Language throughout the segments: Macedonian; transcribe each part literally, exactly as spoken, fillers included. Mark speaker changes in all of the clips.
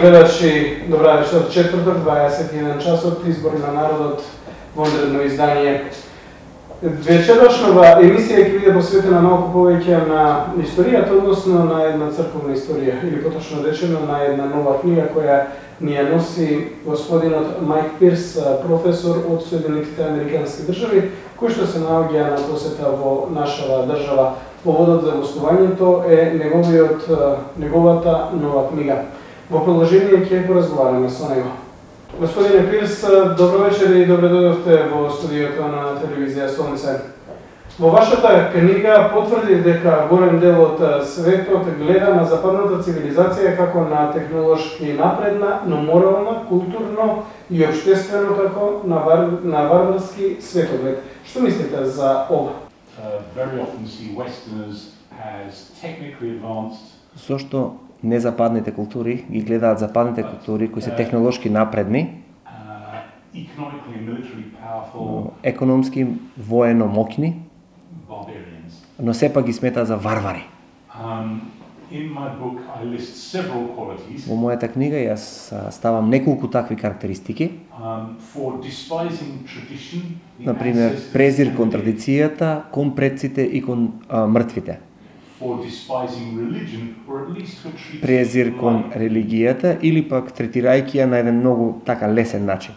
Speaker 1: гледачи, добра вечер, четврток, дваесет и еден часот, избори на народот, во одредно издание. Вечерашнава емисија ќе биде посветена малку повеќе на историјата, односно на една црковна историја, или поточно речено на една нова книга која ни ја носи господинот Майк Пирс, професор од Соединетите Американски држави, кој што се наоѓа на посета во нашава држава. Поводот за гостувањето е неговиот, неговата нова книга. Во продолжение ќе поразговараме со него. Господине Пирс, добро вечер и добре дојдовте во студиото на телевизија Сонце. Во вашата книга потврди дека голем дел од светот гледа на западната цивилизација како на технолошки напредна, но морална, културно и општествено како на, вар... на варварски светоглед. Што мислите за ова?
Speaker 2: Зошто незападните култури ги гледаат западните култури кои се технолошки напредни, економски воено моќни, но сепак ги сметаат за варвари. Во мојата книга јас ставам неколку такви карактеристики. Например, презир кон традицијата, кон предците и кон а, мртвите. Презир кон религијата или пак третирајќи ја на еден многу така лесен начин.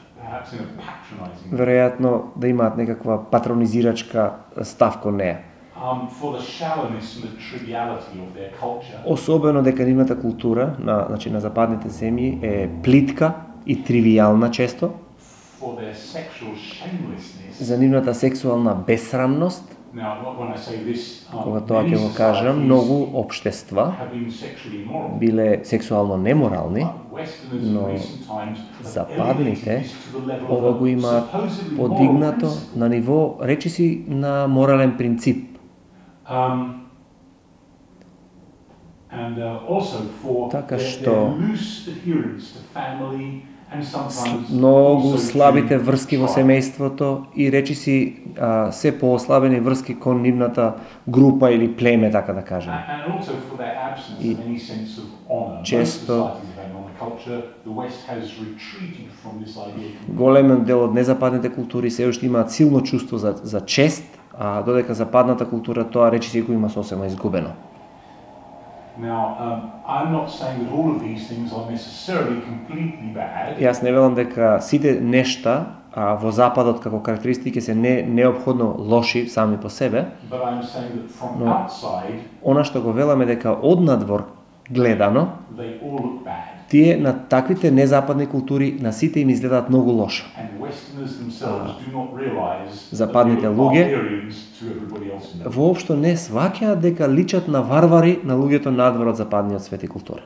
Speaker 2: Веројатно да имаат некаква патронизирачка став кон неја. Особено дека нивната култура на, значи, на западните земји е плитка и тривијална често. За нивната сексуална бесрамност. Кога тоа ќе го кажам, многу општества биле сексуално неморални, но западните ова го имаат подигнато на ниво, речиси, на морален принцип. Така што многу слабите врски во семејството и речиси а, се поослабени врски кон нивната група или племе, така да кажем. И често големен дел од незападните култури се уште имаат силно чувство за, за чест, а додека западната култура тоа речиси го има сосема изгубено.
Speaker 3: Now, um, I'm not saying that all of these things are necessarily completely bad.
Speaker 2: Јас не велам дека сите нешта а, во западот како карактеристики се не неопходно лоши сами по себе.
Speaker 3: But I'm saying that from
Speaker 2: Но
Speaker 3: outside,
Speaker 2: она што го веламе дека однадвор гледано,
Speaker 3: they all look bad.
Speaker 2: Тие на таквите незападни култури на сите им изгледаат многу лошо.
Speaker 3: And Westerners themselves do not realize
Speaker 2: Западните луѓе воопшто не сваќаат дека личат на варвари на луѓето надвор од западниот свет и култура.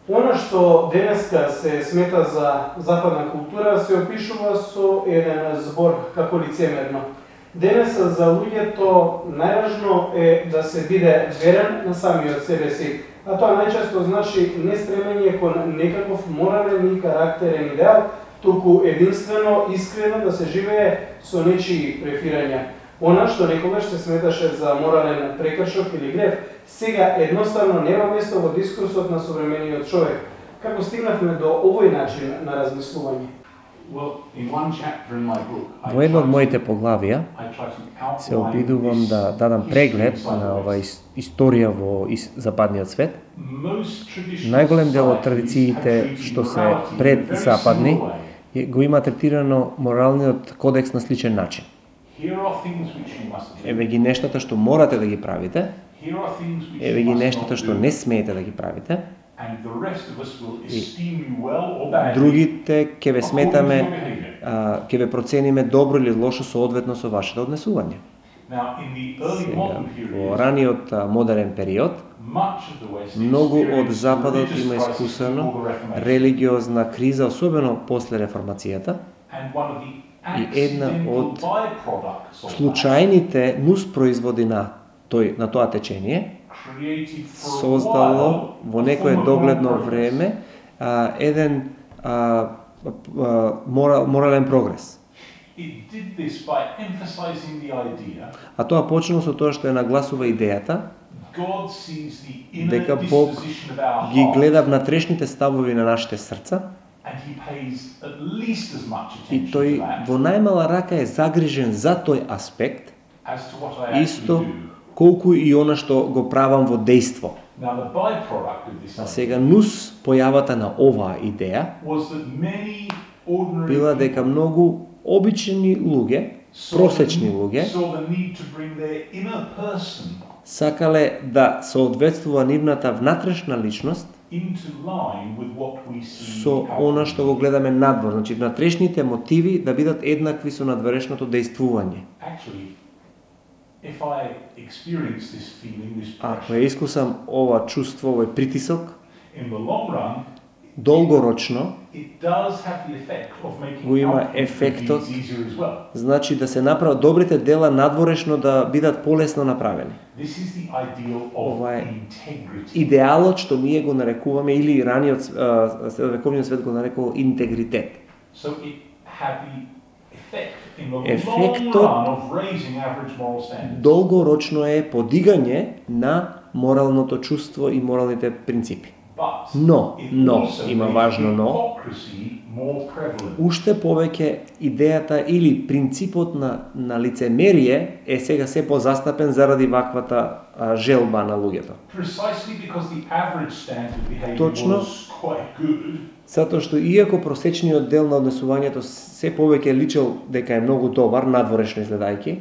Speaker 1: Она што денеска се смета за западна култура се опишува со еден збор како лицемерно. Денес за луѓето најважно е да се биде верен на самиот себе си, а тоа најчесто значи не стремење кон некаков морален и карактерен идеал, туку единствено, искрено да се живее со нечии префирања. Она што некогаш се сметаше за морален прекршок или грев, сега едноставно нема место во дискурсот на современиот човек. Како стигнавме до овој начин на размислување?
Speaker 2: Во едно од моите поглавија се обидувам да дадам преглед на ова историја во западниот свет. Најголем дел од традициите што се предзападни го има третирано моралниот кодекс на сличен начин. Еве ги нештата што морате да ги правите, еве ги нештата што не смеете да ги правите, и другите ќе ве сметаме, ќе ве процениме добро или лошо соодветно со вашето однесување. Сега, во раниот модерен период, многу од Западот има искусено религиозна криза, особено после реформацијата, и една од случајните нуспроизводи на тој на тоа течение создало во некое догледно време а, еден а, а, морал, морален прогрес. А тоа почнало со тоа што ја нагласува идејата дека Бог ги гледа внатрешните ставови на нашите срца и тој во најмала рака е загрижен за тој аспект, исто колку и она што го правам во дејство. А сега нус појавата на оваа идеја била дека многу обични луѓе, просечни луѓе, сакале да соодветствува нивната внатрешна личност со она што го гледаме надвор, значи внатрешните мотиви да бидат еднакви со надворешното дејствување. Ако ја искусам ова чувство, овој притисок, долгорочно го има ефектот, значи да се направат добрите дела надворешно да бидат полесно направени. Ова е идеалот што ние го нарекуваме, или раниот средновековниот свет го нарекува интегритет. Ефектот долгорочно е подигање на моралното чувство и моралните принципи. Но, но, има важно но, уште повеќе идејата или принципот на, на лицемерие е сега се позастапен заради ваквата а, желба на луѓето. Точно, затоа што иако просечниот дел на однесувањето се повеќе личел дека е многу добар, надворешно изгледајќи,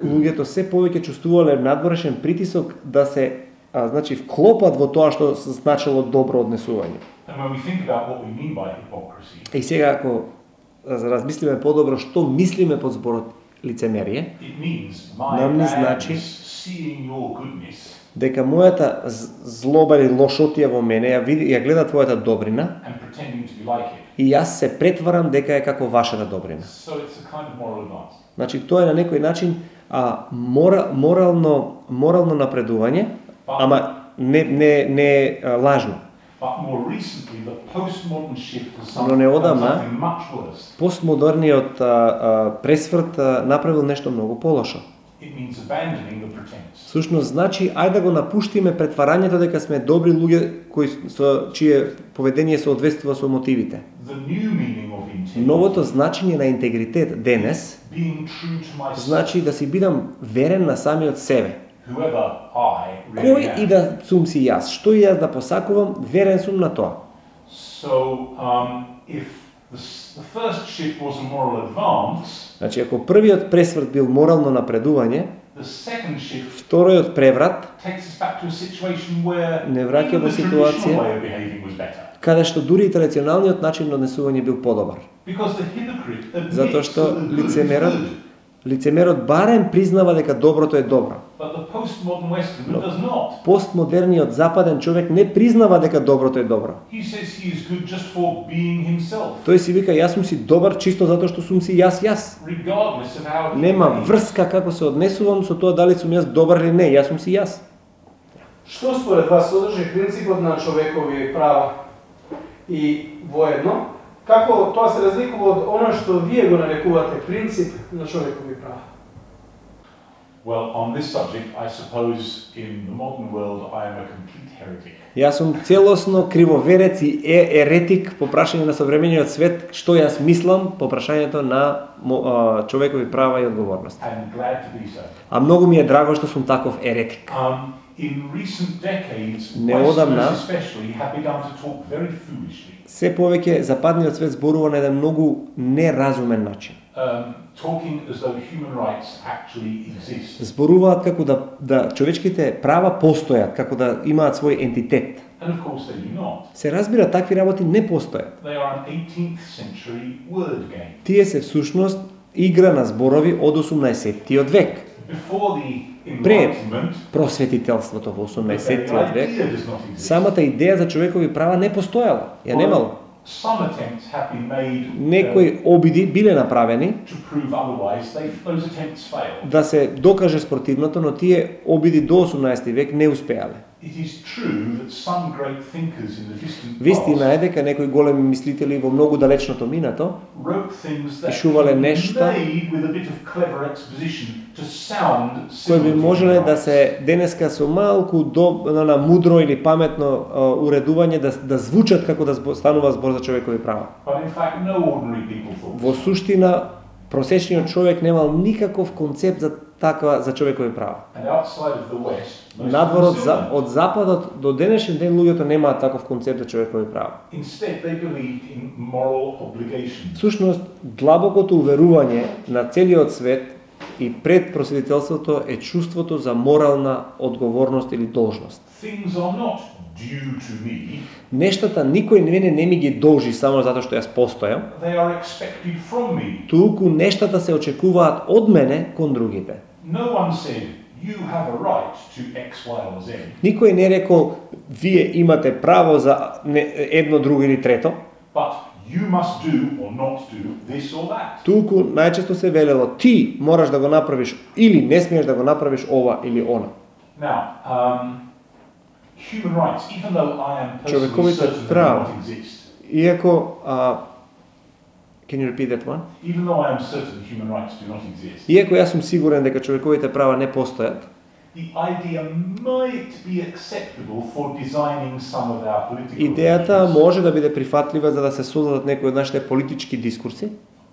Speaker 2: луѓето се повеќе чувствувале надворешен притисок да се а, значи вклопат во тоа што значило добро однесување. И сега ако размислиме подобро што мислиме под зборот лицемерие, нам ни значи дека мојата злоба или лошотија во мене ја види, ја гледа твојата добрина и јас се претварам дека е како вашата добрина. Значи тоа е на некој начин а, мора, морално морално напредување, ама не не не а, лажно. Но неодамна постмодерниот а, а, пресврт а, направил нешто многу полошо. Сушност значи ајде да го напуштиме претварањето дека сме добри луѓе кои со чие поведение соодветствува со мотивите. Новото значење на интегритет денес значи да си бидам верен на самиот себе. Кој и да сум си јас, што и јас да посакувам, верен сум на тоа. Значи, ако првиот пресврт бил морално напредување, вториот преврат не враќа во ситуација каде што дури и традиционалниот начин на однесување бил подобар. Затоа што лицемерот лицемерот барем признава дека доброто е добро. Но постмодерниот западен човек не признава дека доброто е добро. Тој си вика јас сум си добар чисто затоа што сум си јас јас. Нема врска како се однесувам со тоа дали сум јас добар или не, јас сум си јас.
Speaker 1: Што според вас содржи принципот на човекови права и воедно? Како тоа се разликува од она што вие го нарекувате принцип на човекови права?
Speaker 3: Well, on this subject, I suppose in the modern world I am a complete heretic.
Speaker 2: Јас сум целосно кривоверец и е еретик по прашање на современиот свет, што јас мислам по прашањето на а, човекови права и одговорност.
Speaker 3: I'm glad to be so.
Speaker 2: А многу ми е драго што сум таков еретик.
Speaker 3: Um, in recent decades,
Speaker 2: Неодамна,
Speaker 3: Westerners especially have begun to talk very foolishly.
Speaker 2: Се повеќе западниот свет зборува на еден многу неразумен начин.
Speaker 3: Um, talking as though human rights actually exist.
Speaker 2: Зборуваат како да да човечките права постојат, како да имаат свој ентитет.
Speaker 3: And of course they do not.
Speaker 2: Се разбира, такви работи не постојат.
Speaker 3: They are an eighteenth century word game.
Speaker 2: Тие се всушност игра на зборови од осумнаесеттиот век.
Speaker 3: Before the
Speaker 2: Пред
Speaker 3: Enlightenment,
Speaker 2: просветителството во
Speaker 3: the
Speaker 2: осумнаесеттиот век,
Speaker 3: idea does not exist.
Speaker 2: самата идеја за човекови права не постојала, ја немало.
Speaker 3: Some attempts have been made uh,
Speaker 2: Некои обиди биле направени
Speaker 3: to prove otherwise. They, those attempts failed.
Speaker 2: да се докаже спротивното, но тие обиди до осумнаесети век не успеале.
Speaker 3: It is true that some great thinkers in the distant
Speaker 2: Вистина е дека некои големи мислители во многу далечното минато
Speaker 3: wrote things that
Speaker 2: пишувале нешта
Speaker 3: made with a bit of clever exposition to sound
Speaker 2: кои би
Speaker 3: similar to
Speaker 2: можеле
Speaker 3: human
Speaker 2: да
Speaker 3: rights.
Speaker 2: се денеска со малку до, на мудро или паметно а, уредување да, да звучат како да збо, станува збор за човекови права.
Speaker 3: But in fact, no ordinary people thought.
Speaker 2: Во суштина, просечниот човек немал никаков концепт за таква за човекови права.
Speaker 3: And outside of the West, most
Speaker 2: Надворот
Speaker 3: people
Speaker 2: за,
Speaker 3: still don't.
Speaker 2: од западот до денешен ден луѓето немаат таков концепт за човекови права.
Speaker 3: Instead, they believed in moral obligations.
Speaker 2: Всушност, длабокото уверување на целиот свет и пред просветителството е чувството за морална одговорност или должност.
Speaker 3: Things are not due to me,
Speaker 2: Нештата никој мене не ми ги должи само затоа што јас постојам,
Speaker 3: they are expected from me.
Speaker 2: туку нештата се очекуваат од мене кон другите.
Speaker 3: No one said, you have a right to X, Y, or Z.
Speaker 2: Никој не рекол, вие имате право за не- едно, друго или трето,
Speaker 3: But you must do or not do this or that.
Speaker 2: туку најчесто се велело, ти мораш да го направиш или не смееш да го направиш ова или она.
Speaker 3: Now, um, human rights, even though I am personally
Speaker 2: Човековите
Speaker 3: certain they do
Speaker 2: права.
Speaker 3: not exist,
Speaker 2: Иако, а, can you repeat that one?
Speaker 3: even though I am certain human rights do not exist,
Speaker 2: Иако јас сум сигурен дека човековите права не постојат,
Speaker 3: the idea might be acceptable for designing some of our political
Speaker 2: идејата
Speaker 3: arrangements.
Speaker 2: може да биде прифатлива за да се создадат некои од нашите политички дискурси.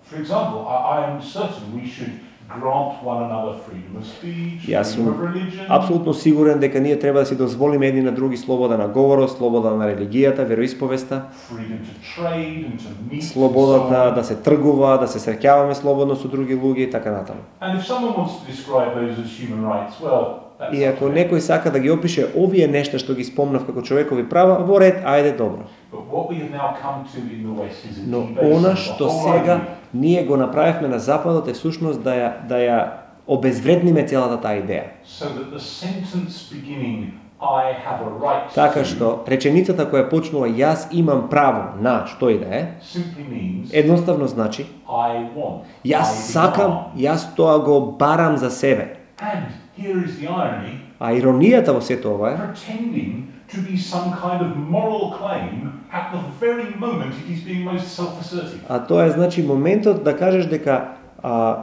Speaker 3: For example, I, I am certain we should grant one another freedom of speech,
Speaker 2: Јас
Speaker 3: freedom
Speaker 2: сум
Speaker 3: of religion,
Speaker 2: апсолутно сигурен дека ние треба да си дозволиме едни на други слобода на говорот, слобода на религијата, вероисповеста,
Speaker 3: freedom to trade and to meet,
Speaker 2: слободата
Speaker 3: and so on.
Speaker 2: да се тргува, да се среќаваме слободно со други луѓе и така натаму.
Speaker 3: And if someone wants to describe those as human rights, well, that's
Speaker 2: И ако
Speaker 3: up to them.
Speaker 2: некој сака да ги опише овие нешта што ги спомнав како човекови права, во ред, ајде добро.
Speaker 3: But what we have now come to in the West is a
Speaker 2: Но
Speaker 3: debase
Speaker 2: она
Speaker 3: of the
Speaker 2: што
Speaker 3: whole
Speaker 2: сега
Speaker 3: idea.
Speaker 2: ние го направивме на западот е всушност да ја да ја обезвредниме целата таа идеја.
Speaker 3: So that the sentence beginning, I have a right
Speaker 2: Така
Speaker 3: to,
Speaker 2: што реченицата која почнува јас имам право на што и да е,
Speaker 3: simply means
Speaker 2: едноставно значи
Speaker 3: I want.
Speaker 2: јас
Speaker 3: I
Speaker 2: сакам,
Speaker 3: demand.
Speaker 2: јас тоа го барам за себе.
Speaker 3: And here is the irony,
Speaker 2: А иронијата во сето ова е
Speaker 3: pretending to be some kind of moral claim at the very moment it is being most self-assertive.
Speaker 2: а тоа е значи моментот да кажеш дека а,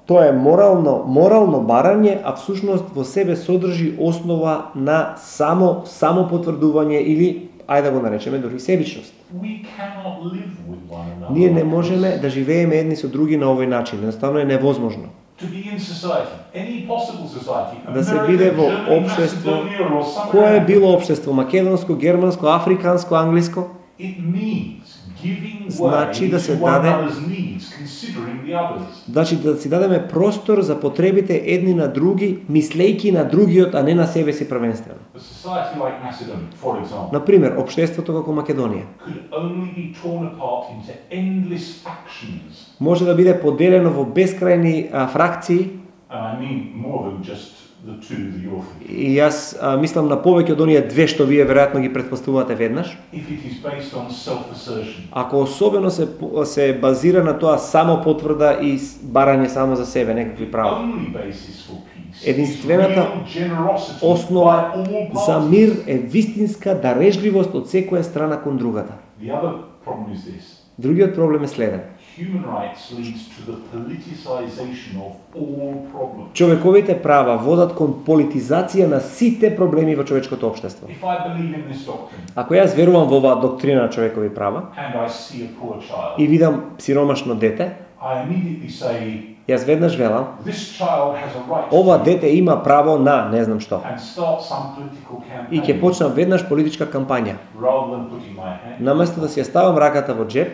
Speaker 2: тоа е морално морално барање, а всушност во себе содржи основа на само само потврдување или ајде да го наречеме дури себичност.
Speaker 3: We cannot live with one another.
Speaker 2: Ние не
Speaker 3: like
Speaker 2: можеме
Speaker 3: this.
Speaker 2: да живееме едни со други на овој начин, едноставно е невозможно.
Speaker 3: To be in society, any possible society,
Speaker 2: Да се
Speaker 3: America,
Speaker 2: биде во
Speaker 3: Germany,
Speaker 2: општество,
Speaker 3: Macedonia, or somewhere
Speaker 2: кое е
Speaker 3: else,
Speaker 2: било општество, македонско, германско, африканско, англиско,
Speaker 3: it means giving way
Speaker 2: Значи да се
Speaker 3: to one
Speaker 2: даде-
Speaker 3: another's needs, considering the others.
Speaker 2: значи да си дадеме простор за потребите едни на други, мислејки на другиот, а не на себе си првенствено.
Speaker 3: A society like Macedonia, for example,
Speaker 2: Например, општеството како Македонија
Speaker 3: could only be torn apart into endless factions.
Speaker 2: може да биде поделено во бескрајни а, фракции,
Speaker 3: And I mean more than just the two that you're thinking.
Speaker 2: и јас а, мислам на повеќе од оние две што вие веројатно ги претпоставувате веднаш.
Speaker 3: If it is based on self-assertion.
Speaker 2: Ако особено се се базира на тоа само потврда и с- барање само за себе некакви права.
Speaker 3: Only basis for peace
Speaker 2: Единствената
Speaker 3: is real generosity
Speaker 2: Основа
Speaker 3: by all
Speaker 2: за
Speaker 3: parties.
Speaker 2: мир е вистинска дарежливост од секоја страна кон другата.
Speaker 3: The other problem is this.
Speaker 2: Другиот проблем е следен.
Speaker 3: Human rights leads to the politicization of all problems.
Speaker 2: Човековите права водат кон политизација на сите проблеми во човечкото општество.
Speaker 3: If I believe in this doctrine
Speaker 2: Ако јас верувам во оваа доктрина на човекови права
Speaker 3: and I see a poor child,
Speaker 2: и видам сиромашно дете,
Speaker 3: I immediately say,
Speaker 2: јас веднаш велам,
Speaker 3: this child has a right
Speaker 2: ова
Speaker 3: to,
Speaker 2: дете има право на не знам што.
Speaker 3: and start some political
Speaker 2: И ќе
Speaker 3: campaign
Speaker 2: почнам веднаш политичка кампања.
Speaker 3: rather than putting my hand.
Speaker 2: Наместо да си ја ставам раката во джеб,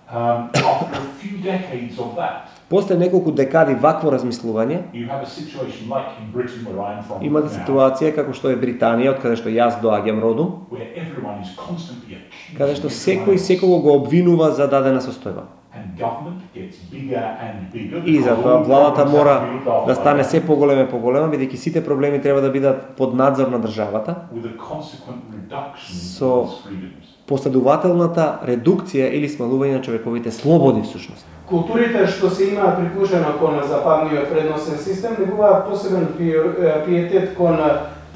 Speaker 3: Um, after a few decades of that,
Speaker 2: после неколку декади вакво размислување,
Speaker 3: you have a situation like in Britain where I'm from
Speaker 2: имате
Speaker 3: now,
Speaker 2: ситуација како што е Британија, од каде што јас доаѓам родом,
Speaker 3: where everyone is constantly accused
Speaker 2: каде што
Speaker 3: of
Speaker 2: секој
Speaker 3: violence,
Speaker 2: секого го обвинува за дадена состојба.
Speaker 3: and government gets bigger and bigger
Speaker 2: И
Speaker 3: because
Speaker 2: затоа
Speaker 3: all
Speaker 2: владата
Speaker 3: problems
Speaker 2: мора
Speaker 3: have to be looked after
Speaker 2: да
Speaker 3: by
Speaker 2: стане
Speaker 3: government,
Speaker 2: се поголема и поголема, бидејќи сите проблеми треба да бидат под надзор на државата.
Speaker 3: with a consequent reduction
Speaker 2: So-
Speaker 3: in those freedoms.
Speaker 2: Последователната редукција или смалување на човековите слободи всушност.
Speaker 1: Културите што се имаат прикушено кон западниот вредносен систем негуваат посебен пи- пиетет кон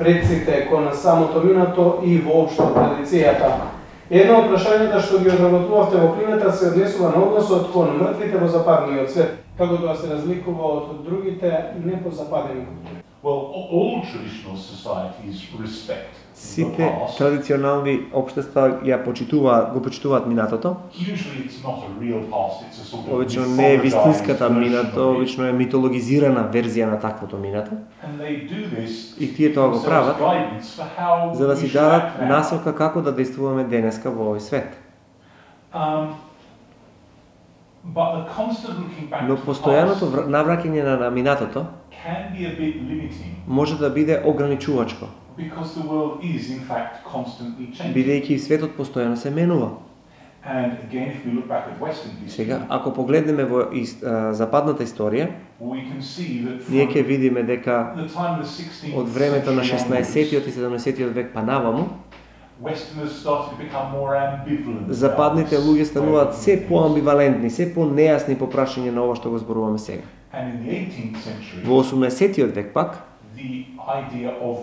Speaker 1: предците кон самото минато и воопшто традицијата. Едно од прашањата што ги одработувавте во книгата се однесува на односот кон мртвите во западниот свет, како тоа се разликува од другите непозападени култури.
Speaker 3: Well, all traditional societies respect the
Speaker 2: Сите
Speaker 3: past.
Speaker 2: традиционални општества ја почитуваат, го почитуваат минатото.
Speaker 3: Usually it's not a real past, it's a sort of
Speaker 2: Обично не е вистинската
Speaker 3: mythologized
Speaker 2: минато,
Speaker 3: version of it.
Speaker 2: обично е митологизирана верзија на таквото минато.
Speaker 3: And they do this
Speaker 2: И тие тоа го
Speaker 3: themselves
Speaker 2: прават
Speaker 3: guidance for how
Speaker 2: за да
Speaker 3: we
Speaker 2: си
Speaker 3: should
Speaker 2: дадат
Speaker 3: act now.
Speaker 2: насока како да действуваме денеска во овој свет.
Speaker 3: Um, but the constant looking back
Speaker 2: Но
Speaker 3: to the
Speaker 2: постојаното
Speaker 3: past
Speaker 2: вр- навраќање на, на минатото
Speaker 3: can be a bit limiting
Speaker 2: може да биде ограничувачко,
Speaker 3: because the world is in fact constantly changing.
Speaker 2: бидејќи светот постојано се менува.
Speaker 3: And again, if we look back at Western history,
Speaker 2: Сега, ако погледнеме во ис, а, западната историја,
Speaker 3: we can see that
Speaker 2: ние
Speaker 3: from
Speaker 2: ќе видиме дека
Speaker 3: the time of the sixteenth
Speaker 2: од времето на
Speaker 3: century
Speaker 2: шеснаесеттиот и
Speaker 3: onwards,
Speaker 2: седумнаесеттиот век па наваму,
Speaker 3: Westerners started to become more ambivalent.
Speaker 2: западните
Speaker 3: about
Speaker 2: луѓе
Speaker 3: this
Speaker 2: стануваат
Speaker 3: way of
Speaker 2: се
Speaker 3: doing things.
Speaker 2: поамбивалентни, се понејасни по прашање на ова што го зборуваме сега.
Speaker 3: And in the eighteenth century,
Speaker 2: Во осумнаесеттиот век пак,
Speaker 3: the idea of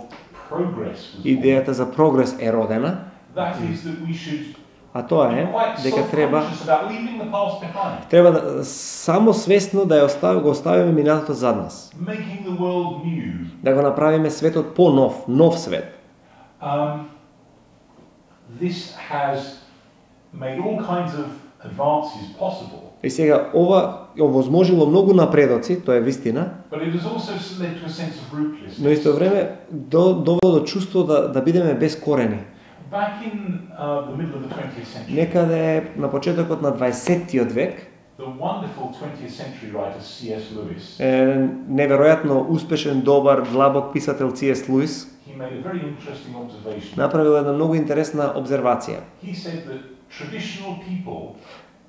Speaker 3: progress was born.
Speaker 2: идејата за прогрес е родена,
Speaker 3: That is that we should
Speaker 2: а тоа
Speaker 3: be
Speaker 2: е
Speaker 3: quite
Speaker 2: дека треба
Speaker 3: self-conscious about leaving the past behind,
Speaker 2: треба да само свесно да ја остави, го оставиме минатото зад нас,
Speaker 3: making the world new.
Speaker 2: да го направиме светот по-нов, нов свет.
Speaker 3: Um, this has made all kinds of advances possible,
Speaker 2: И сега ова овозможило многу напредоци, тоа е вистина,
Speaker 3: but it has also led to a sense of rootlessness.
Speaker 2: но исто време до, довело до чувство да, да бидеме без корени.
Speaker 3: Back in uh, the middle of the twentieth century,
Speaker 2: Некаде на почетокот на дваесеттиот век,
Speaker 3: the wonderful twentieth century writer C S Lewis,
Speaker 2: е, неверојатно успешен, добар, длабок писател Си Ес Луис
Speaker 3: he made a very interesting observation.
Speaker 2: направил една многу интересна обзервација.
Speaker 3: He said that traditional people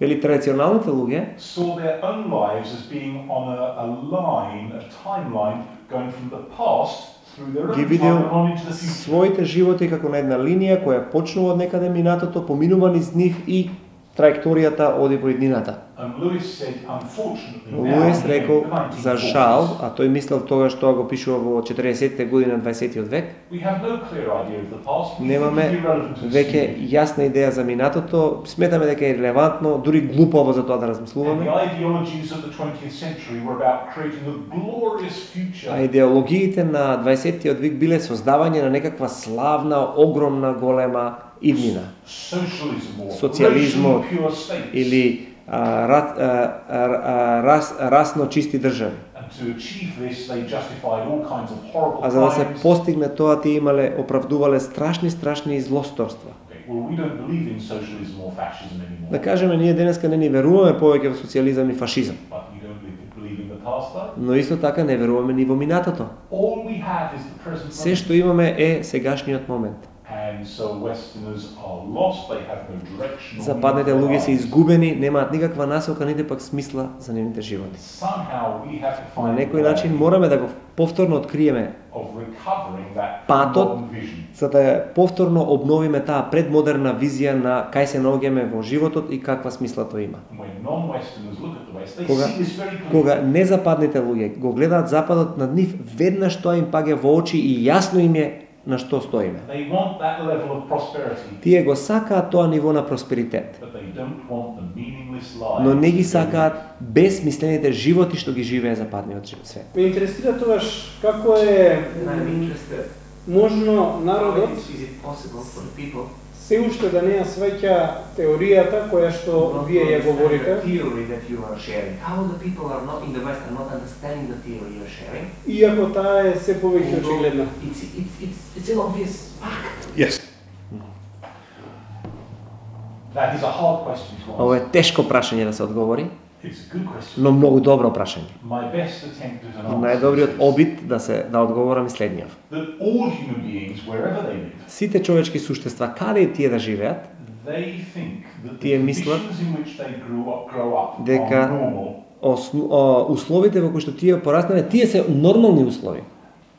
Speaker 2: Вели традиционалните луѓе
Speaker 3: saw their own lives as being on a, a line, a timeline, going from the past through their
Speaker 2: ги
Speaker 3: own
Speaker 2: видел
Speaker 3: time on into the future.
Speaker 2: своите животи како на една линија која почнува од некаде минатото, поминува низ нив и траекторијата оди во иднината.
Speaker 3: And Lewis said, unfortunately, now,
Speaker 2: Луис
Speaker 3: in
Speaker 2: рекол
Speaker 3: the nineteen
Speaker 2: за
Speaker 3: forties,
Speaker 2: жал, а тој мислел тогаш тоа го пишува во четиредесеттите години на дваесеттиот век,
Speaker 3: we have no clear idea of the past. We
Speaker 2: немаме
Speaker 3: think it's irrelevant to
Speaker 2: веќе
Speaker 3: see.
Speaker 2: јасна идеја за минатото, сметаме дека е релевантно, дури глупаво за тоа да
Speaker 3: And
Speaker 2: размислуваме.
Speaker 3: the ideologies of the twentieth century were about creating a glorious future.
Speaker 2: А идеологиите на дваесеттиот век биле создавање на некаква славна, огромна, голема иднина.
Speaker 3: Socialism or
Speaker 2: Социализмот
Speaker 3: racially pure states.
Speaker 2: или а, ра, а, а, рас, расно чисти држави.
Speaker 3: And to achieve this, they justified all kinds of horrible
Speaker 2: А за да се
Speaker 3: crimes.
Speaker 2: постигне тоа, тие имале, оправдувале страшни, страшни злосторства.
Speaker 3: Okay, well, we don't believe in socialism or fascism anymore.
Speaker 2: Да кажеме, ние денеска не ни веруваме повеќе во социализам и фашизам,
Speaker 3: But you don't believe- believe in the past, though.
Speaker 2: но исто така не веруваме ни во минатото.
Speaker 3: All we have is the present
Speaker 2: Се
Speaker 3: moment.
Speaker 2: што имаме е сегашниот момент.
Speaker 3: And so Westerners are lost, they have no direction. or
Speaker 2: Западните
Speaker 3: meaning for
Speaker 2: луѓе
Speaker 3: their
Speaker 2: се
Speaker 3: lives.
Speaker 2: изгубени, немаат никаква насока, нити пак смисла за нивните животи.
Speaker 3: Somehow we have to
Speaker 2: На
Speaker 3: find
Speaker 2: некој
Speaker 3: a
Speaker 2: начин
Speaker 3: way
Speaker 2: мораме да го повторно откриеме,
Speaker 3: of recovering that
Speaker 2: патот
Speaker 3: modern vision.
Speaker 2: за да ја повторно обновиме таа предмодерна визија на кај се наоѓаме во животот и каква смисла тоа има.
Speaker 3: When non-Westerners look at the West, they
Speaker 2: Кога,
Speaker 3: see this very clearly.
Speaker 2: кога незападните луѓе го гледаат западот над нив, веднаш тоа им паѓа во очи и јасно им е на што стоиме.
Speaker 3: They want that level of prosperity,
Speaker 2: Тие го сакаат тоа ниво на просперитет,
Speaker 3: but they don't want the meaningless lives.
Speaker 2: но не ги
Speaker 3: that they
Speaker 2: сакаат безсмислените животи што ги живее западниот свет.
Speaker 1: Ме интересира тогаш како е
Speaker 4: And I'm interested,
Speaker 1: можно
Speaker 4: how
Speaker 1: народот
Speaker 4: is, is it possible for the people
Speaker 1: се уште да не ја сваќа теоријата која што
Speaker 4: not
Speaker 1: вие
Speaker 4: to
Speaker 1: ја
Speaker 4: understand
Speaker 1: говорите,
Speaker 4: the theory that you are sharing? How the people are not in the West are not understanding the theory you are sharing?
Speaker 1: иако таа е се повеќе очигледна.
Speaker 4: It's, it's, it's, it's an obvious fact.
Speaker 3: Yes. That is a hard question to
Speaker 2: Ова
Speaker 3: answer.
Speaker 2: е тешко прашање да се одговори,
Speaker 3: It's a good question.
Speaker 2: но многу добро прашање.
Speaker 3: My best attempt at an answer
Speaker 2: Најдобриот
Speaker 3: is
Speaker 2: обид да се да одговорам е следниот.
Speaker 3: that all human beings, wherever they live,
Speaker 2: Сите човечки суштества, каде и тие да живеат,
Speaker 3: they think that the
Speaker 2: Тие мислат
Speaker 3: conditions in which they grew up, grow up
Speaker 2: дека
Speaker 3: are normal,
Speaker 2: осну, о, условите во кои што тие пораснале, тие се нормални услови.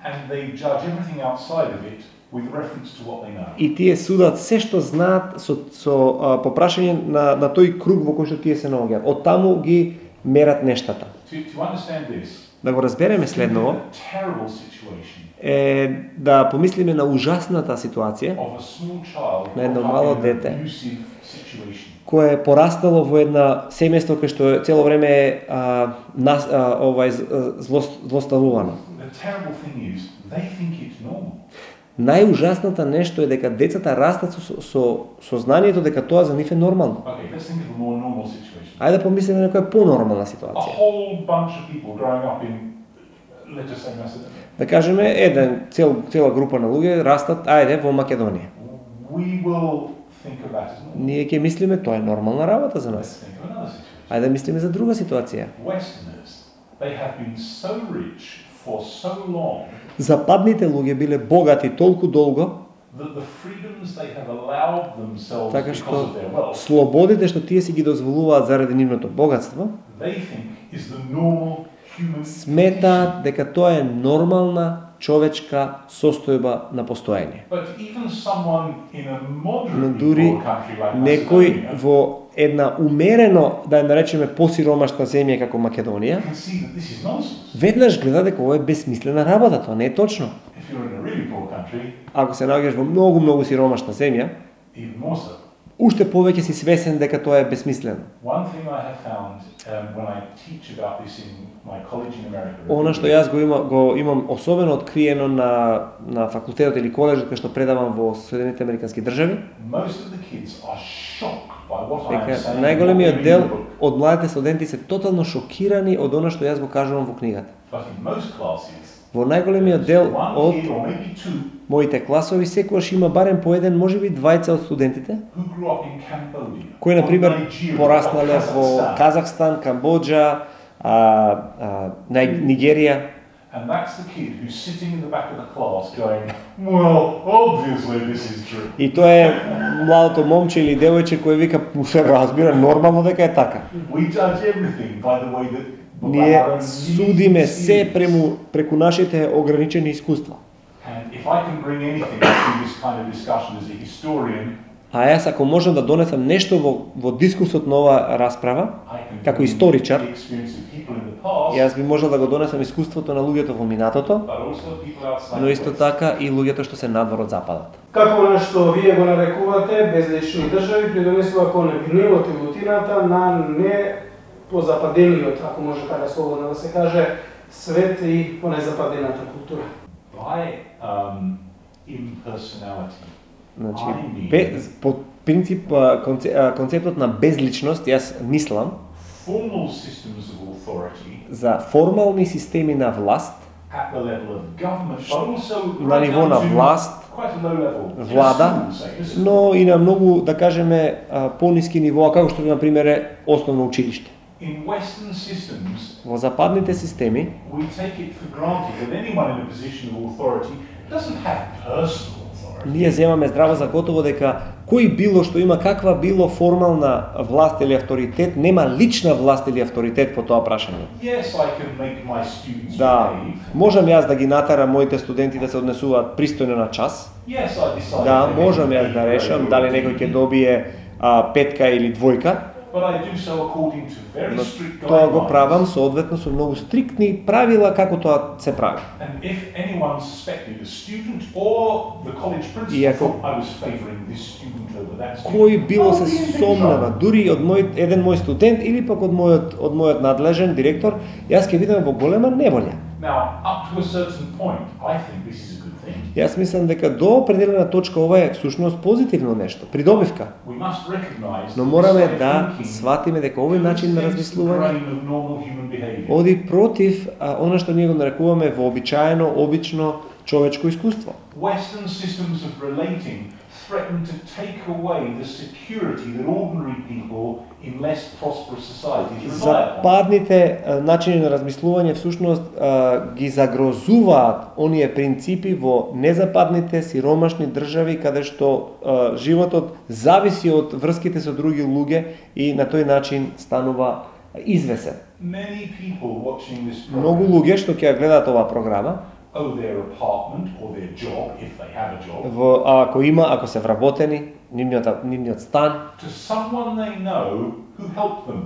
Speaker 3: and they judge everything outside of it with reference to what they know.
Speaker 2: И тие судат се што знаат со, со а, по прашање на, на тој круг во кој што тие се наоѓаат. Од таму ги мерат нештата.
Speaker 3: to, to understand this,
Speaker 2: да го разбереме следново,
Speaker 3: a terrible situation
Speaker 2: е да помислиме на ужасната ситуација
Speaker 3: of a small child
Speaker 2: на едно
Speaker 3: brought up
Speaker 2: мало
Speaker 3: in an
Speaker 2: дете
Speaker 3: abusive situation.
Speaker 2: кое е порастало во една семејство кое што цело време е а, нас, а, овај зло, злоставувано.
Speaker 3: The terrible thing is, they think it's normal.
Speaker 2: Најужасната нешто е дека децата растат со, со сознанието дека тоа за нив е нормално.
Speaker 3: Okay, let's think of a more normal situation.
Speaker 2: Ајде да помислиме на некоја понормална
Speaker 3: A
Speaker 2: ситуација.
Speaker 3: whole bunch of people growing up in, let's just say Macedonia.
Speaker 2: Да кажеме, еден цел, цела група на луѓе растат, ајде, во Македонија.
Speaker 3: We will think of that as normal.
Speaker 2: Ние ќе мислиме тоа е нормална работа за
Speaker 3: Let's
Speaker 2: нас.
Speaker 3: think of another situation.
Speaker 2: Ајде да мислиме за друга ситуација.
Speaker 3: Westerners, they have been so rich for so long
Speaker 2: Западните луѓе биле богати толку долго,
Speaker 3: that the freedoms they have allowed themselves
Speaker 2: така
Speaker 3: because
Speaker 2: што
Speaker 3: of their wealth,
Speaker 2: слободите што тие си ги дозволуваат заради нивното богатство,
Speaker 3: they think is the normal human
Speaker 2: сметаат дека тоа е нормална човечка состојба на постоење.
Speaker 3: But even someone in a
Speaker 2: Но
Speaker 3: moderately
Speaker 2: дури
Speaker 3: poor country like
Speaker 2: некој
Speaker 3: Macedonia
Speaker 2: во една умерено, да ја наречеме посиромашна земја како Македонија,
Speaker 3: can see that this is nonsense.
Speaker 2: веднаш гледа дека ова е безсмислена работа, тоа не е точно.
Speaker 3: If you're in a really poor country,
Speaker 2: Ако се наоѓаш во многу многу сиромашна земја,
Speaker 3: even more so.
Speaker 2: уште повеќе си свесен дека тоа е безсмислено.
Speaker 3: One thing I have found um, when I teach about this in my college in America,
Speaker 2: Она што јас го, има, го имам особено откриено на, на факултетот или коледжот кај што предавам во Соединените Американски држави,
Speaker 3: most of the kids are shocked by what I am
Speaker 2: дека
Speaker 3: saying.
Speaker 2: најголемиот
Speaker 3: in
Speaker 2: дел
Speaker 3: the book.
Speaker 2: од младите студенти се тотално шокирани од она што јас го кажувам во книгата.
Speaker 3: But in most classes,
Speaker 2: Во најголемиот дел
Speaker 3: one
Speaker 2: од
Speaker 3: kid or maybe two
Speaker 2: моите класови секогаш има барем по еден, можеби двајца од студентите,
Speaker 3: who grew up in Cambodia,
Speaker 2: кои
Speaker 3: or
Speaker 2: на пример
Speaker 3: Nigeria, or
Speaker 2: пораснале во
Speaker 3: Kazakhstan.
Speaker 2: Казахстан, Камбоџа, а, а, Нај- Нигерија.
Speaker 3: And that's the kid who's sitting in the back of the class going, well, obviously this is true.
Speaker 2: И тоа е младото момче или девојче кој вика, се разбира, нормално дека е така.
Speaker 3: We judge everything by the way that by
Speaker 2: Ние
Speaker 3: our own
Speaker 2: судиме
Speaker 3: limited
Speaker 2: се
Speaker 3: experience.
Speaker 2: прему, преку нашите ограничени искуства.
Speaker 3: And if I can bring anything to this kind of discussion as a historian,
Speaker 2: А јас ако можам да донесам нешто во, во дискусот на оваа расправа,
Speaker 3: I can
Speaker 2: како
Speaker 3: bring
Speaker 2: историчар,
Speaker 3: the experience of people in the past,
Speaker 2: јас би можел да го донесам искуството на луѓето во минатото,
Speaker 3: but also people outside
Speaker 2: но
Speaker 3: the
Speaker 2: исто
Speaker 3: West.
Speaker 2: така и луѓето што се надвор од западот.
Speaker 1: Како она што вие го нарекувате безлични држави придонесува кон гневот и лутината на не позападениот, ако може така слободно да се каже, свет и по незападената култура.
Speaker 3: By um, impersonality,
Speaker 2: Значи,
Speaker 3: I mean
Speaker 2: бе, по принцип а, конце, а, концептот на безличност, јас мислам
Speaker 3: formal systems of authority
Speaker 2: за формални системи на власт,
Speaker 3: at the level of government, but also
Speaker 2: на
Speaker 3: right
Speaker 2: ниво
Speaker 3: down
Speaker 2: на
Speaker 3: to
Speaker 2: власт,
Speaker 3: quite a low level. in a
Speaker 2: влада,
Speaker 3: school, say, in a school.
Speaker 2: но и на многу, да кажеме, а, пониски нивоа, како што на пример е основно училиште.
Speaker 3: In Western systems,
Speaker 2: Во западните системи
Speaker 3: we take it for granted that anyone in a position of authority doesn't have personal authority.
Speaker 2: ние земаме здраво за готово дека кој било што има каква било формална власт или авторитет, нема лична власт или авторитет по тоа прашање.
Speaker 3: Yes, I can make my students
Speaker 2: Да,
Speaker 3: behave.
Speaker 2: можам јас да ги натарам моите студенти да се однесуваат пристојно на час.
Speaker 3: Yes, I decide.
Speaker 2: Да,
Speaker 3: if they
Speaker 2: можам
Speaker 3: make
Speaker 2: јас да
Speaker 3: a
Speaker 2: решам
Speaker 3: grade
Speaker 2: дали
Speaker 3: or
Speaker 2: некој ќе
Speaker 3: B.
Speaker 2: добие а, петка или двојка,
Speaker 3: But I do so according to very
Speaker 2: но
Speaker 3: strict
Speaker 2: тоа го
Speaker 3: guidelines.
Speaker 2: правам соодветно со многу стриктни правила како тоа се прави.
Speaker 3: And if anyone suspected, a student or the college principal,
Speaker 2: И ако-
Speaker 3: thought I was favouring this student over that student,
Speaker 2: Кој било
Speaker 3: I'll
Speaker 2: се
Speaker 3: be in big
Speaker 2: сомнева,
Speaker 3: trouble.
Speaker 2: дури од мој еден мој студент или пак од мојот од мојот надлежен директор, јас ќе бидам во голема неволја.
Speaker 3: Now, up to a certain point, I think this is a good thing.
Speaker 2: Јас мислам дека до определена точка ова е всушност позитивно нешто, придобивка.
Speaker 3: We must recognise
Speaker 2: Но
Speaker 3: that
Speaker 2: мораме
Speaker 3: this way of
Speaker 2: да
Speaker 3: thinking
Speaker 2: сватиме дека овој начин на
Speaker 3: goes against the
Speaker 2: размислување
Speaker 3: grain of normal human behaviour.
Speaker 2: оди против а, она што ние го нарекуваме вообичаено, обично човечко искуство.
Speaker 3: Western systems of relating threaten to take away the security that ordinary people in less prosperous societies rely upon.
Speaker 2: Западните а, начини на размислување всушност а, ги загрозуваат оние принципи во незападните сиромашни држави каде што а, животот зависи од врските со други луѓе и на тој начин станува извесен.
Speaker 3: Many people watching this
Speaker 2: Многу
Speaker 3: program
Speaker 2: луѓе што ќе ја гледаат оваа програма,
Speaker 3: owe their apartment or their job, if they have a job,
Speaker 2: во, а, ако има, ако се вработени, нивниот, нивниот стан,
Speaker 3: to someone they know who helped them.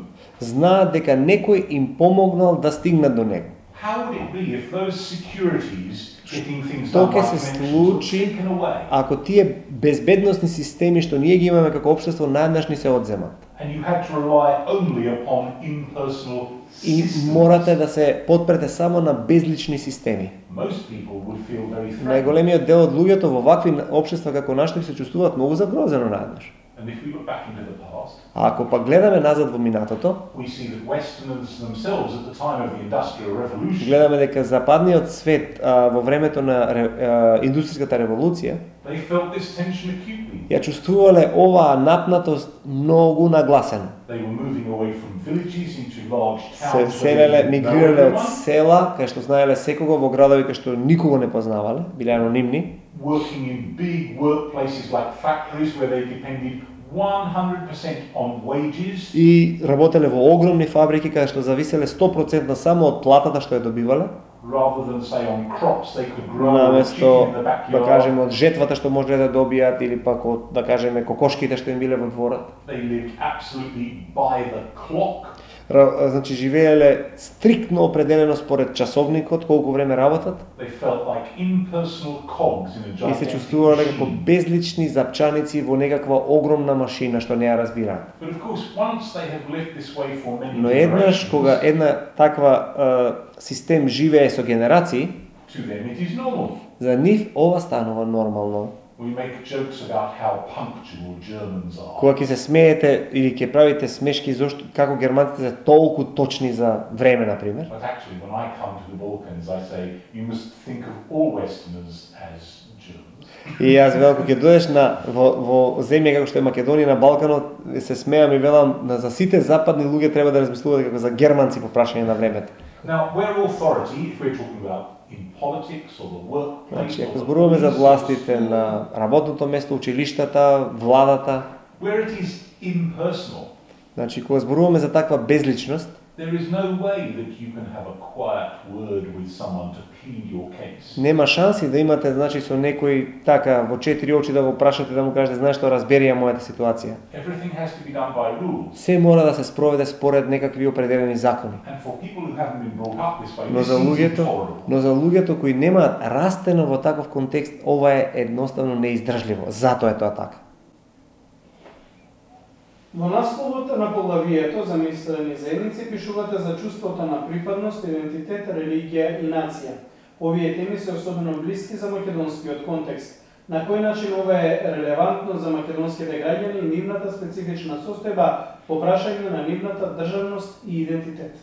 Speaker 2: знаат дека некој им помогнал да стигнат до него.
Speaker 3: How would it be if those securities getting things
Speaker 2: Што
Speaker 3: done
Speaker 2: ќе
Speaker 3: by
Speaker 2: се
Speaker 3: financials were
Speaker 2: случи
Speaker 3: taken away?
Speaker 2: ако тие безбедносни системи што ние ги имаме како општество наеднаш ни се одземат?
Speaker 3: And you had to rely only upon impersonal
Speaker 2: И
Speaker 3: systems.
Speaker 2: морате да се подпрете само на безлични системи.
Speaker 3: Most people would feel very threatened.
Speaker 2: Најголемиот дел од луѓето во вакви општества како нашите се чувствуваат многу загрозено наеднаш.
Speaker 3: And if we look back into the past,
Speaker 2: А ако пак гледаме назад во минатото,
Speaker 3: we see that Westerners themselves at the time of the Industrial Revolution,
Speaker 2: гледаме дека западниот свет а, во времето на а, индустријската револуција
Speaker 3: they felt this tension acutely.
Speaker 2: ја чувствувале оваа напнатост многу нагласено.
Speaker 3: They were moving away from villages into large
Speaker 2: Се
Speaker 3: towns. where
Speaker 2: селеле,
Speaker 3: they didn't know
Speaker 2: мигрирале од
Speaker 3: everyone,
Speaker 2: села, кај што знаеле секого, во градови кај што никого не познавале, биле анонимни,
Speaker 3: working in big workplaces like factories where they depended one hundred percent on wages,
Speaker 2: и работеле во огромни фабрики каде што зависеле сто проценти само од платата што ја добивале,
Speaker 3: rather than say on crops they could grow a
Speaker 2: наместо
Speaker 3: chicken in the
Speaker 2: да
Speaker 3: backyard.
Speaker 2: кажеме од жетвата што можеле да добијат или пак од да кажеме кокошките што им биле во дворот.
Speaker 3: They lived absolutely by the clock.
Speaker 2: Ра- Значи живееле стриктно определено според часовникот колку време работат
Speaker 3: They felt like impersonал cogs in a
Speaker 2: и се
Speaker 3: gigantic
Speaker 2: чувствувале како
Speaker 3: machine.
Speaker 2: безлични запчаници во некаква огромна машина што не ја разбираат.
Speaker 3: But of course, once they have lived this way for many
Speaker 2: Но еднаш кога
Speaker 3: generations,
Speaker 2: една таква е, систем живее со генерации,
Speaker 3: to them it is normal.
Speaker 2: за нив ова станува нормално.
Speaker 3: We make jokes about how punctual Germans are.
Speaker 2: Кога ќе се смеете или ќе правите смешки зошто како германците се толку точни за време на пример.
Speaker 3: But actually, when I come to the Balkans, I say, you must think of all Westerners as Germans.
Speaker 2: И јас велам кога ќе дојдеш на во, во земја како што е Македонија на Балканот, се смеам и велам на за сите западни луѓе треба да размислуваат како за германци по прашање на времето.
Speaker 3: Now, where authority, if we're talking about in politics or the workplace,
Speaker 2: Значи,
Speaker 3: or
Speaker 2: ако
Speaker 3: the
Speaker 2: зборуваме за
Speaker 3: police,
Speaker 2: властите на работното место, училиштата, владата,
Speaker 3: where it is impersonal,
Speaker 2: значи кога зборуваме за таква безличност,
Speaker 3: there is no way that you can have a quiet word with someone to plead your case.
Speaker 2: нема шанси да имате значи со некој така во четири очи да го прашате да му кажете знаеш што разбери ја мојата ситуација.
Speaker 3: Everything has to be done by rules.
Speaker 2: Се мора да се спроведе според некакви определени закони.
Speaker 3: And for people who haven't been brought up this way,
Speaker 2: Но
Speaker 3: this
Speaker 2: за
Speaker 3: seems
Speaker 2: луѓето,
Speaker 3: intolerable.
Speaker 2: но за луѓето кои немаат растено во таков контекст, ова е едноставно неиздржливо. Затоа е тоа така.
Speaker 1: Во насловот на поглавието за мислени заедници пишувате за чувството на припадност, идентитет, религија и нација. Овие теми се особено блиски за македонскиот контекст. На кој начин ова е релевантно за македонските граѓани и нивната специфична состојба по прашање на нивната државност и идентитет?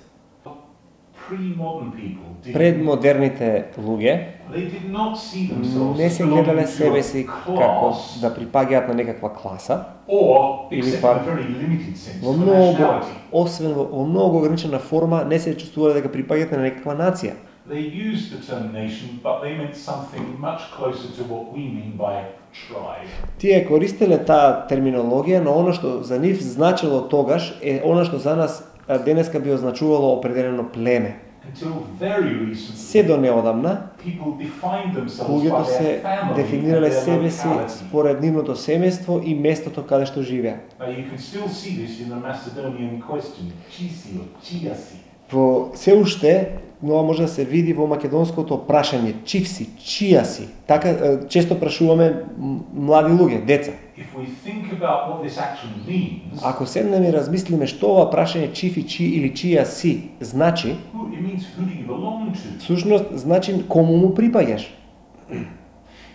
Speaker 3: Pre-modern people did,
Speaker 2: Предмодерните луѓе
Speaker 3: they did not see themselves
Speaker 2: не
Speaker 3: as
Speaker 2: се
Speaker 3: belonging
Speaker 2: гледале
Speaker 3: to
Speaker 2: себе
Speaker 3: a
Speaker 2: си како
Speaker 3: class
Speaker 2: да припаѓаат на некаква класа,
Speaker 3: or,
Speaker 2: или
Speaker 3: except in
Speaker 2: пак
Speaker 3: a very limited sense,
Speaker 2: во
Speaker 3: to
Speaker 2: многу,
Speaker 3: nationality.
Speaker 2: освен во, во многу ограничена форма, не се чувствувале дека припаѓаат на некаква нација.
Speaker 3: They used the term nation, but they meant something much closer to what we mean by tribe.
Speaker 2: Тие користеле таа терминологија, но она што за нив значело тогаш е она што за нас а, денеска би означувало определено племе.
Speaker 3: Until very
Speaker 2: Се
Speaker 3: recently,
Speaker 2: до неодамна,
Speaker 3: people defined themselves by
Speaker 2: луѓето
Speaker 3: their
Speaker 2: се
Speaker 3: family and
Speaker 2: дефинирале
Speaker 3: their
Speaker 2: себе си
Speaker 3: locality.
Speaker 2: според нивното семејство и местото каде што живеат.
Speaker 3: Now you can still see this in the Macedonian question, Chisi or Chiasi.
Speaker 2: Во се уште, но може да се види во македонското прашање, чив си, чија си. Така е, често прашуваме м- млади луѓе, деца.
Speaker 3: If we think about what this action means,
Speaker 2: Ако седнеме и размислиме што ова прашање чив и чи или чија си значи,
Speaker 3: who- it means who do you belong to?
Speaker 2: всушност значи кому му припаѓаш.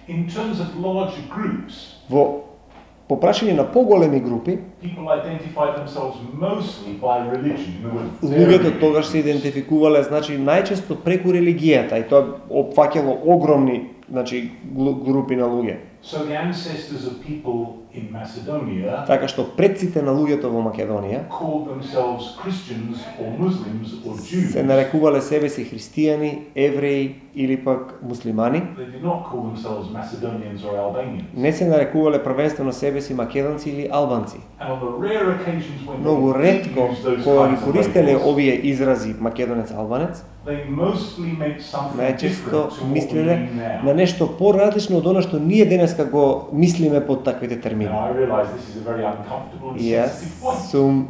Speaker 3: In terms of larger groups,
Speaker 2: Во по прашање на поголеми групи,
Speaker 3: people identify themselves mostly by religion. In other words, their
Speaker 2: луѓето
Speaker 3: religion.
Speaker 2: тогаш се идентификувале значи најчесто преку религијата и тоа опфаќало огромни значи глу- групи на луѓе.
Speaker 3: So the ancestors of people in Macedonia
Speaker 2: Така што предците на луѓето во Македонија
Speaker 3: called themselves Christians or Muslims or Jews.
Speaker 2: се нарекувале себе си христијани, евреи или пак муслимани.
Speaker 3: They did not call themselves Macedonians or Albanians.
Speaker 2: Не се нарекувале првенствено себе си македонци или албанци.
Speaker 3: And on the rare occasions when
Speaker 2: Многу
Speaker 3: they did
Speaker 2: ретко
Speaker 3: use those
Speaker 2: кога ги
Speaker 3: kinds of
Speaker 2: користеле
Speaker 3: labels,
Speaker 2: овие изрази македонец, албанец,
Speaker 3: they mostly meant something
Speaker 2: најчесто
Speaker 3: different to what we
Speaker 2: мислеле
Speaker 3: mean
Speaker 2: на
Speaker 3: now.
Speaker 2: нешто поразлично од она што ние денеска го мислиме под таквите термини.
Speaker 3: Now I realize this is a very uncomfortable and
Speaker 2: И јас
Speaker 3: sensitive point.
Speaker 2: сум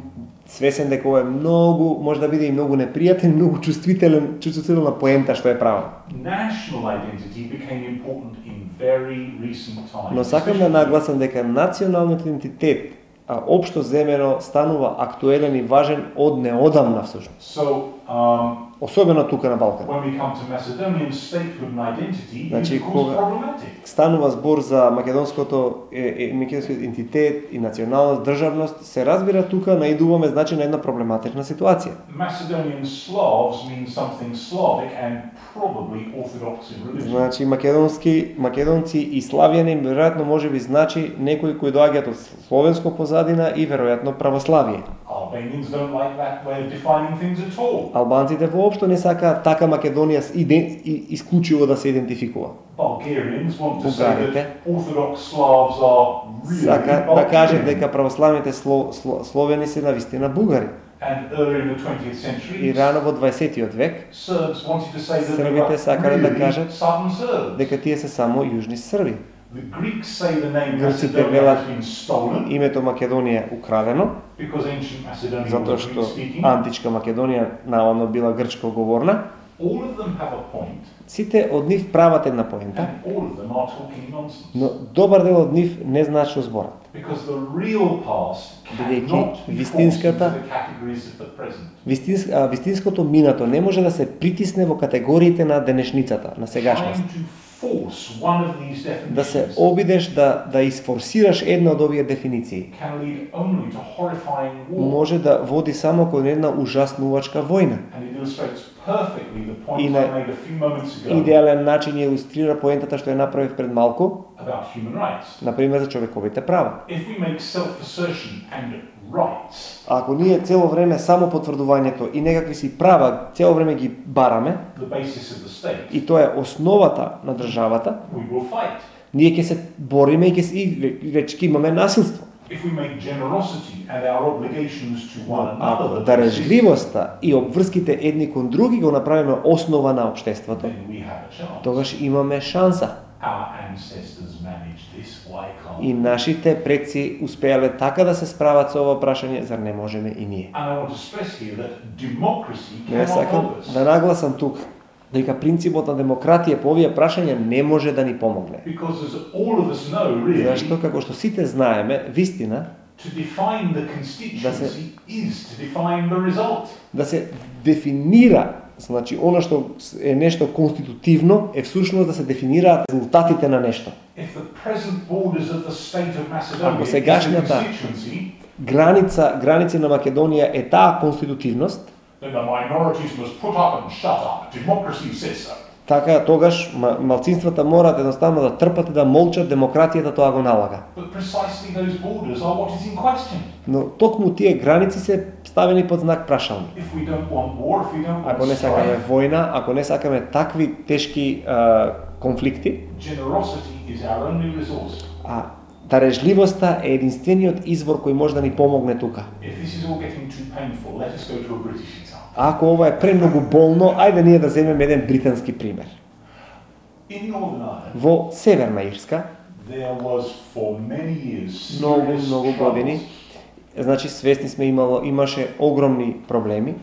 Speaker 2: свесен дека ова е многу, може да биде и многу непријатен, многу чувствителен, чувствителна поента што е правил.
Speaker 3: National identity became important in very recent times.
Speaker 2: Но сакам да нагласам дека националниот идентитет, а општо земено, станува актуелен и важен од неодамна всушност.
Speaker 3: So, um,
Speaker 2: особено тука на Балкан.
Speaker 3: When we come to Macedonian statehood and identity,
Speaker 2: Значи,
Speaker 3: it becomes
Speaker 2: кога
Speaker 3: problematic.
Speaker 2: станува збор за македонското е, е, македонскиот идентитет и националност, државност, се разбира тука наидуваме значи на една проблематична ситуација.
Speaker 3: Macedonian Slavs mean something Slavic and probably Orthodox in religion.
Speaker 2: Значи македонски, македонци и славјани веројатно можеби значи некои кои доаѓаат од словенско позадина и веројатно православие.
Speaker 3: Albanians don't like that way of defining things at all.
Speaker 2: Албанците воопшто не сакаат така Македонија исклучиво да се идентификува.
Speaker 3: Bulgarians want to say
Speaker 2: Бугарите
Speaker 3: that Orthodox Slavs are really
Speaker 2: сака да кажат
Speaker 3: Bulgarian.
Speaker 2: дека православните сло, сло, словени се навистина бугари.
Speaker 3: And earlier in the twentieth century,
Speaker 2: И рано во дваесеттиот век
Speaker 3: Serbs wanted to say that they
Speaker 2: Србите
Speaker 3: were
Speaker 2: сакале да
Speaker 3: really
Speaker 2: кажат
Speaker 3: southern Serbs.
Speaker 2: дека тие се само јужни срби.
Speaker 3: The Greeks say the name
Speaker 2: Грците
Speaker 3: Macedonia
Speaker 2: велат
Speaker 3: has been stolen
Speaker 2: името Македонија е украдено,
Speaker 3: because ancient Macedonia
Speaker 2: затоа
Speaker 3: was
Speaker 2: што
Speaker 3: Greek-speaking.
Speaker 2: античка Македонија наводно била грчко говорна.
Speaker 3: All of them have a point,
Speaker 2: Сите од нив прават една поента,
Speaker 3: and all of them are talking nonsense.
Speaker 2: но добар дел од нив не знаат што зборат.
Speaker 3: Because the real past
Speaker 2: Бидејќи
Speaker 3: cannot be forced into
Speaker 2: вистинската-
Speaker 3: the categories of the present.
Speaker 2: Вистинс, а, вистинското минато не може да се притисне во категориите на денешницата, на сегашност.
Speaker 3: Trying to force one of these
Speaker 2: Да се
Speaker 3: definitions
Speaker 2: обидеш да да isфорсираш една од овие дефиниции,
Speaker 3: can lead only to horrifying war.
Speaker 2: може да води само кон една ужаснувачка војна.
Speaker 3: And it illustrates perfectly the point
Speaker 2: И
Speaker 3: I
Speaker 2: на
Speaker 3: made a few moments ago
Speaker 2: идеален начин ја илустрира поентата што ја направив пред малку,
Speaker 3: about human rights.
Speaker 2: например за човековите права.
Speaker 3: If we make self-assertion and rights
Speaker 2: Ако ние цело време само потврдувањето и некакви си права цело време ги бараме,
Speaker 3: the basis of the state,
Speaker 2: и тоа е основата на државата,
Speaker 3: we will fight.
Speaker 2: ние ќе се бориме и ќе се- и веќе ќе имаме насилство.
Speaker 3: If we make generosity and our obligations to one
Speaker 2: Ако
Speaker 3: another the basis,
Speaker 2: дарежливоста и обврските едни кон други го направиме основа на општеството,
Speaker 3: then we have a chance.
Speaker 2: тогаш имаме шанса.
Speaker 3: Our ancestors managed this, why can't
Speaker 2: И
Speaker 3: we?
Speaker 2: нашите предци успеале така да се справат со ова прашање, зар не можеме и ние?
Speaker 3: And I want to stress here that democracy
Speaker 2: Но јас
Speaker 3: cannot
Speaker 2: сакам
Speaker 3: help us.
Speaker 2: да нагласам тук дека принципот на демократија по овие прашања не може да ни помогне.
Speaker 3: Because as all of us know, really,
Speaker 2: Зашто, како што сите знаеме, вистина,
Speaker 3: to define the constituency is to define the result.
Speaker 2: да се дефинира, значи, она што е нешто конститутивно, е всушност да се дефинираат резултатите на нешто.
Speaker 3: If the present borders of the state of Macedonia
Speaker 2: Ако
Speaker 3: is the
Speaker 2: сегашната
Speaker 3: constituency,
Speaker 2: Граница, граници на Македонија е таа конститутивност,
Speaker 3: then the minorities must put up and shut up. Democracy says so.
Speaker 2: така тогаш ма- малцинствата мораат едноставно да трпат и да молчат, демократијата тоа го налага.
Speaker 3: But precisely those borders are what is in question.
Speaker 2: Но токму тие граници се ставени под знак прашални.
Speaker 3: If we don't want war, if we don't want
Speaker 2: Ако не сакаме
Speaker 3: strife,
Speaker 2: војна, ако не сакаме такви тешки а, конфликти,
Speaker 3: generosity is our only resource.
Speaker 2: а дарежливоста е единствениот извор кој може да ни помогне тука.
Speaker 3: If this is all getting too painful, let us go to a British example.
Speaker 2: А ако ова е премногу болно, ајде ние да земеме еден британски пример.
Speaker 3: In Northern Ireland,
Speaker 2: Во Северна Ирска,
Speaker 3: there was for many years
Speaker 2: многу,
Speaker 3: serious
Speaker 2: многу години,
Speaker 3: troubles.
Speaker 2: значи свесни сме имало, имаше огромни проблеми.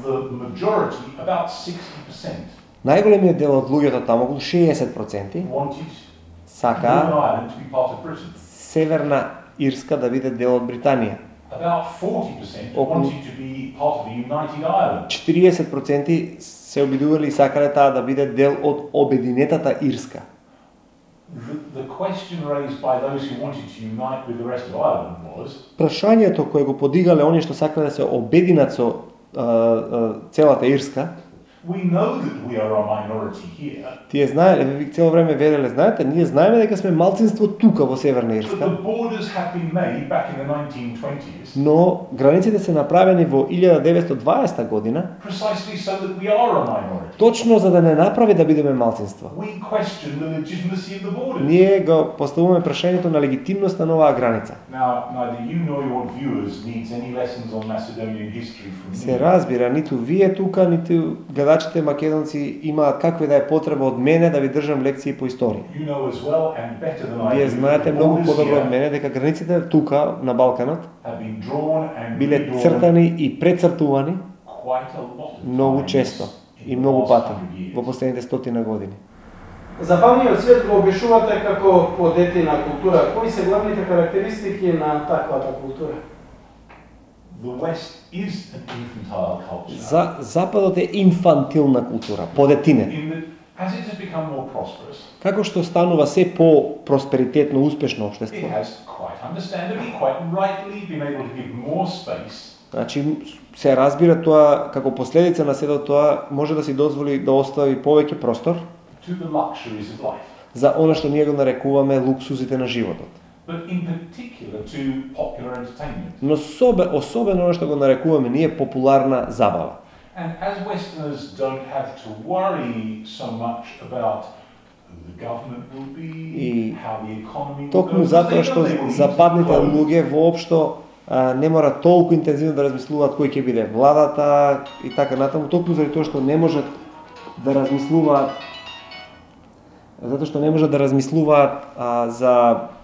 Speaker 3: The majority, about sixty percent,
Speaker 2: Најголемиот дел од луѓето таму, околу шеесет проценти,
Speaker 3: wanted Northern
Speaker 2: сака
Speaker 3: Ireland to be part of Britain.
Speaker 2: Северна Ирска да биде дел од Британија.
Speaker 3: About forty percent
Speaker 2: Околу-
Speaker 3: wanted to be part of the United Ireland.
Speaker 2: четириесет проценти се обидувале и сакале таа да биде дел од обединетата Ирска.
Speaker 3: The, the question raised by those who wanted to unite with the rest of Ireland was,
Speaker 2: Прашањето кое го подигале оние што сакале да се обединат со а, а, целата Ирска,
Speaker 3: we know that we are a minority here,
Speaker 2: тие знаеле, ви цело време велеле, знаете, ние знаеме дека сме малцинство тука во Северна
Speaker 3: but
Speaker 2: Ирска,
Speaker 3: the borders have been made back in the nineteen twenties
Speaker 2: но границите се направени во илјада деветстотдваесета година,
Speaker 3: precisely so that we are a minority.
Speaker 2: точно за да не направи да бидеме малцинство.
Speaker 3: We question the legitimacy of the borders.
Speaker 2: Ние го поставуваме прашањето на легитимноста на оваа граница.
Speaker 3: Now, neither you nor your viewers needs any lessons on Macedonian history from me.
Speaker 2: Се разбира, ниту вие тука, ниту гледачите македонци имаат каква да е потреба од мене да ви држам лекции по историја.
Speaker 3: You know as well and better than I
Speaker 2: Вие
Speaker 3: do,
Speaker 2: знаете
Speaker 3: the
Speaker 2: многу
Speaker 3: borders
Speaker 2: подобро од
Speaker 3: here
Speaker 2: мене дека границите тука на Балканот
Speaker 3: have been drawn and
Speaker 2: биле
Speaker 3: redrawn
Speaker 2: цртани и прецртувани
Speaker 3: quite a lot of
Speaker 2: многу
Speaker 3: times
Speaker 2: често
Speaker 3: in
Speaker 2: и
Speaker 3: the
Speaker 2: многу
Speaker 3: last
Speaker 2: пати
Speaker 3: hundred years.
Speaker 2: во последните стотина години.
Speaker 1: Западниот свет го опишувате како подетина култура. Кои се главните карактеристики на таквата култура?
Speaker 3: The West is an infantile culture.
Speaker 2: За Западот е инфантилна култура, подетине.
Speaker 3: In that, as it has become more prosperous,
Speaker 2: Како што станува се по-просперитетно, успешно
Speaker 3: it
Speaker 2: општество,
Speaker 3: has quite understandably, quite rightly been able to give more space
Speaker 2: значи се разбира тоа како последица на сето тоа може да си дозволи да остави повеќе простор
Speaker 3: to the luxuries of life,
Speaker 2: за она што ние го нарекуваме луксузите на животот.
Speaker 3: but in particular to popular entertainment.
Speaker 2: Но собе, особено она што го нарекуваме ние популарна забава.
Speaker 3: And as Westerners don't have to worry so much about who the government will be,
Speaker 2: И
Speaker 3: how the economy will
Speaker 2: Токму
Speaker 3: go,
Speaker 2: затоа
Speaker 3: they
Speaker 2: што
Speaker 3: know they will eat
Speaker 2: западните
Speaker 3: clothes.
Speaker 2: луѓе воопшто а, не мора толку интензивно да размислуваат кој ќе биде владата и така натаму, токму заради тоа што не можат да размислуваат затоа што не можат да размислуваат а, за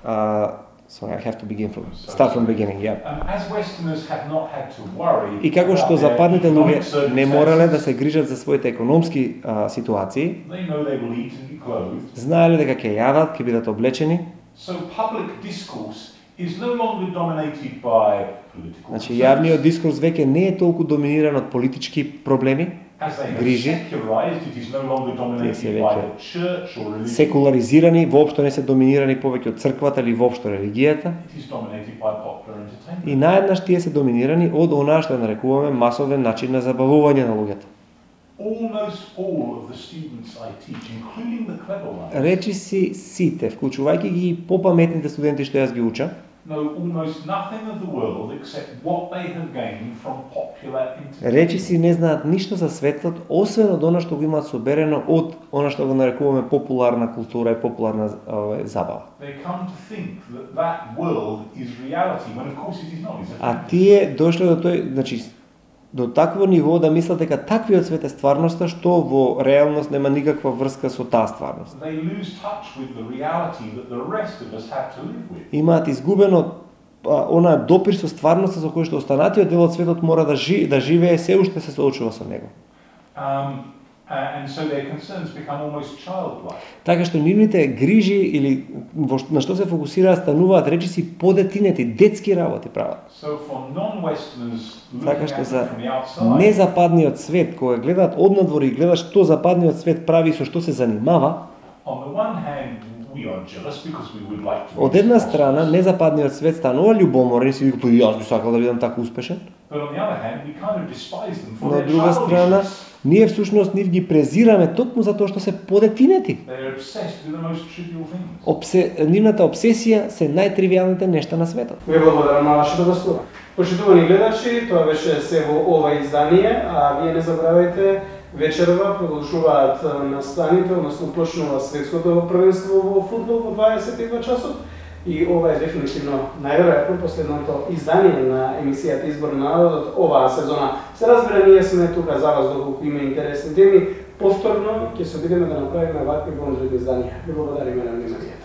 Speaker 2: а, sorry, I have to begin from start from beginning, yeah.
Speaker 3: Um, as Westerners have not had to worry
Speaker 2: И како што
Speaker 3: about their
Speaker 2: западните
Speaker 3: economic
Speaker 2: луѓе не морале да
Speaker 3: circumstances,
Speaker 2: се грижат за своите економски а, ситуации,
Speaker 3: they know they will eat and be clothed.
Speaker 2: знаеле дека ќе јадат, ќе бидат облечени.
Speaker 3: So public discourse is no longer dominated by political
Speaker 2: Значи
Speaker 3: concerns.
Speaker 2: јавниот дискурс веќе не е толку доминиран од политички проблеми,
Speaker 3: As they have
Speaker 2: грижи.
Speaker 3: secularized, it is no longer
Speaker 2: Тие се
Speaker 3: dominated by
Speaker 2: веќе
Speaker 3: the church or religion.
Speaker 2: секуларизирани, воопшто не се доминирани повеќе од црквата или воопшто религијата.
Speaker 3: It is dominated by popular entertainment.
Speaker 2: И наеднаш тие се доминирани од онаа што ја нарекуваме масовен начин на забавување на луѓето.
Speaker 3: Almost all of the students I teach, including the clever ones,
Speaker 2: Речи си сите, вклучувајќи ги и попаметните студенти што јас ги учам,
Speaker 3: know almost nothing of the world except what they have gained from popular entertainment.
Speaker 2: речи си не знаат ништо за светот, освен од она што го имаат соберено од она што го нарекуваме популарна култура и популарна ове, забава.
Speaker 3: They come to think that that world is reality, when of course it is not. It's a
Speaker 2: А
Speaker 3: fantasy.
Speaker 2: тие дошле до тој, значи до такво ниво да мислат дека таквиот свет е стварноста што во реалност нема никаква врска со таа стварност.
Speaker 3: They lose touch with the reality that the rest of us have to live with.
Speaker 2: Имаат изгубено а, онаа допир со стварноста со која што останатиот дел од светот мора да жи, да живее, се уште се соочува со него.
Speaker 3: Um, uh, and so their concerns become almost childlike.
Speaker 2: Така што нивните грижи или во ш- на што се фокусираат стануваат речиси подетинети, детски работи прават.
Speaker 3: So for non-Westerners
Speaker 2: Така
Speaker 3: looking
Speaker 2: што
Speaker 3: at
Speaker 2: за
Speaker 3: them from the outside,
Speaker 2: незападниот свет, кога гледаат однадвор и гледат што западниот свет прави и со што се занимава,
Speaker 3: on the one hand, we are jealous because we would like to be
Speaker 2: од една
Speaker 3: as
Speaker 2: страна
Speaker 3: prosperous.
Speaker 2: незападниот свет станува љубоморен и си вика, па и јас би сакал да бидам така успешен.
Speaker 3: But on the other hand, we kind of despise them for
Speaker 2: Но од
Speaker 3: their
Speaker 2: друга страна,
Speaker 3: childishness.
Speaker 2: ние всушност нив ги презираме токму затоа што се подетинети.
Speaker 3: They're obsessed with the most trivial things.
Speaker 2: Обсе... Нивната обсесија се најтривијалните нешта на светот.
Speaker 1: Ви благодарам на вашето гостување. Почитувани гледачи, тоа беше се во ова издание, а вие не забравајте, вечерва продолжуваат настаните, односно почнува светското првенство во фудбал во дваесет и два часот. И ова е дефинитивно најверојатно последното издание на емисијата Избор на народот оваа сезона. Се разбира, ние сме тука за вас доколку има интересни теми. Повторно ќе се обидеме да направиме вакви бонжи изданија. Ви благодариме на вниманието.